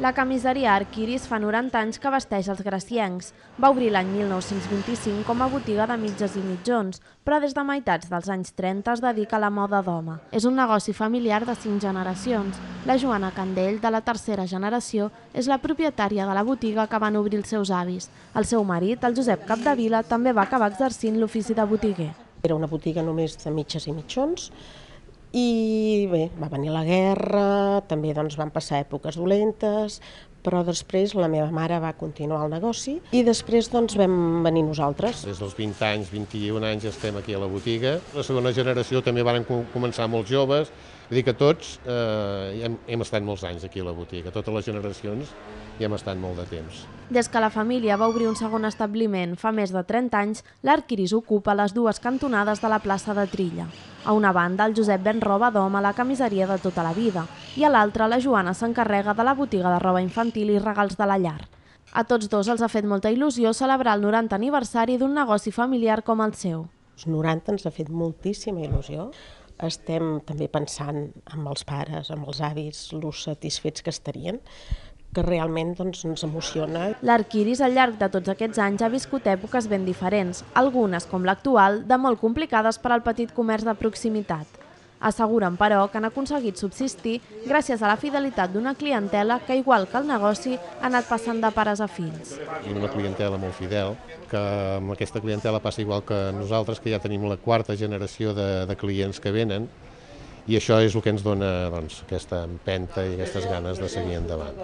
La camiseria Arquiris fa 90 anys que vesteix els graciencs. Va obrir l'any 1925 com a botiga de mitges i mitjons, però des de meitats dels anys 30 es dedica a la moda d'home. És un negoci familiar de 5 generacions. La Joana Candell, de la tercera generació, és la propietària de la botiga que van obrir els seus avis. El seu marit, el Josep Capdevila, també va acabar exercint l'ofici de botiguer. Era una botiga només de mitges i mitjons i bé, va venir la guerra, també van passar èpoques dolentes, però després la meva mare va continuar el negoci i després vam venir nosaltres. Des dels 20 anys, 21 anys estem aquí a la botiga. La segona generació també van començar molt joves, vull dir que tots hem estat molts anys aquí a la botiga, totes les generacions hi hem estat molt de temps. Des que la família va obrir un segon establiment fa més de 30 anys, l'Arquiris ocupa les dues cantonades de la plaça de Trilla. A una banda, el Josep ven roba d'home a la camiseria de tota la vida i a l'altra, la Joana s'encarrega de la botiga de roba infantil i regals de la llar. A tots dos els ha fet molta il·lusió celebrar el 90 aniversari d'un negoci familiar com el seu. Els 90 ens ha fet moltíssima il·lusió. Estem també pensant amb els pares, amb els avis, los satisfets que estarien, que realment ens emociona. L'Arquiris al llarg de tots aquests anys ha viscut èpoques ben diferents, algunes, com l'actual, de molt complicades per al petit comerç de proximitat. Asseguren, però, que han aconseguit subsistir gràcies a la fidelitat d'una clientela que, igual que el negoci, ha anat passant de pares a fills. Una clientela molt fidel, que amb aquesta clientela passa igual que nosaltres, que ja tenim la quarta generació de clients que venen, i això és el que ens dona aquesta empenta i aquestes ganes de seguir endavant.